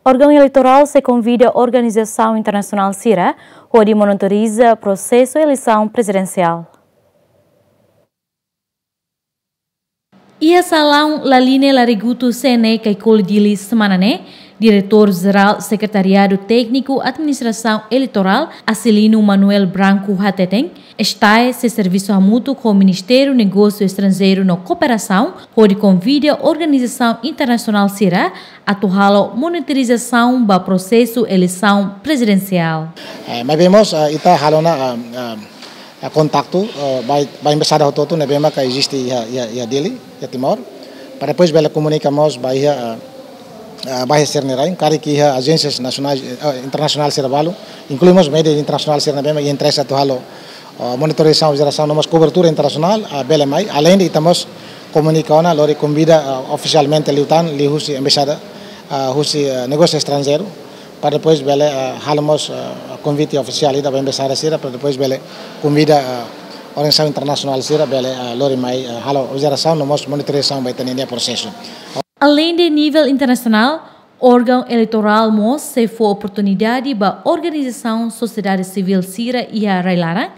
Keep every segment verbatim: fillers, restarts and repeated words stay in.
Órgaun eleitorál sei konvida organizasaun internasionál sira hodi monitoriza prosesu eleisaun prezidensiál. Iha salaun Laline Larigutu C N E Caicoli Dili semana ne'e, Diretór Jerál Sekretariadu Tékniku Administrasaun Eleitorál, Acilino Manuel Branco hateten, STAE sei servisu hamutuk ho Ministériu Negósiu Estranjeiru no Kooperasaun, hodi konvida organizasaun internasionál sira atu halo monitorizasaun ba prosesu eleisaun prezidensiál. Eh, maibé mós, eh, ita halo ona, eh, eh, eh, kontaktu, eh, ba, ba embaixada hotu-hotu ne'ebé maka eziste iha, iha, iha Dili, iha Timor. Para depois bele komunika mós ba iha, eh, eh, ba iha sira-nia rain, karik iha ajénsias nasionais, eh, internasionál sira balu, inklui mós média internasionál sira ne'ebé maka iha interese atu halo, eh, monitorizasaun, observasaun no mós kobertura internasionál, eh, bele mai. Aleinde ita mós komunika ona, lori konvida, eh, ofisialmente liután, liuhusi embaixada, eh, husi, eh, negósiu estranjeiru, para depois bele, eh, halo mós, eh, konvite ofisiál ida ba embaixada sira, para depois bele konvida, eh, organizasaun internasionál sira bele, eh, lori mai, eh, halo observasaun no mós monitorizasaun ba ita-nia prosesu. Aleinde nivel internasionál, órgaun eleitorál mós sei fó oportunidade ba organizasaun sosiedade sivíl sira iha rai-laran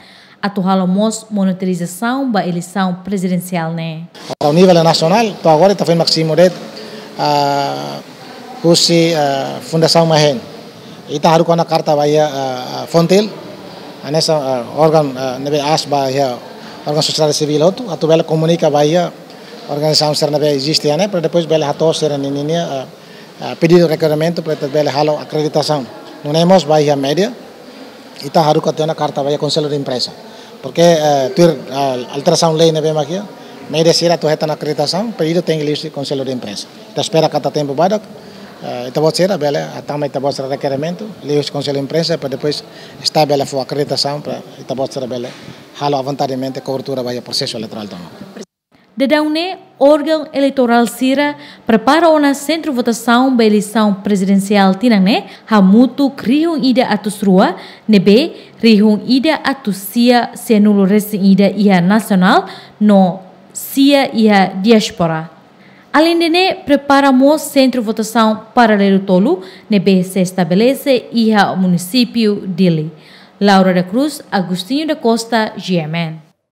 atu halo mós monitorizasaun ba eleisaun prezidensiál ne'e. Para o nível nasionál, to'o agora ita foin másimu de'it, ah, husi, ah, Fundasaun Mahen. Ita haruka ona karta ba iha, ah, ah, Fontil, hanesan, ah, órgaun, ah, ne'ebé aas ba iha órgaun sosiedade sivíl hotu, atu bele komunika ba iha organizasaun sira ne'ebé eziste iha ne'e, para depois bele hato'o sira-nia, ah, ah, pedidu rekerimentu para ita bele halo akreditasaun. Nune'e mós ba iha média, ita haruka tiha ona karta ba iha Konsellu de Imprensa. Porque, eh, tuir, ah, alterasaun lei ne'ebé mak iha, média sira atu hetan akreditasaun, pedidu tenke liuhusi Konsellu de Imprensa. Ita espera katak tempu badak, eh, ita-boot sira bele, ah, tama ita-boot sira rekerimentu, liuhusi Konsellu de Imprensa, para depois STAE bele fó akreditasaun, para ita-boot sira bele halo avontademente kobertura ba iha prosesu eleitorál tomak. Daudaun ne'e, órgaun eleitorál sira prepara ona sentru votasaun ba eleisaun prezidensiál tinan ne'e, hamutuk rihun ida atus rua, ne'ebé rihun ida atus sia sianulu resin ida iha nasionál, no sia iha diáspora. Aleinde ne'e, prepara mós sentru votasaun paralelu tolu, ne'ebé sei estabelese iha munisípiu Dili. Laura da Cruz, Agostinho da Costa, G M N.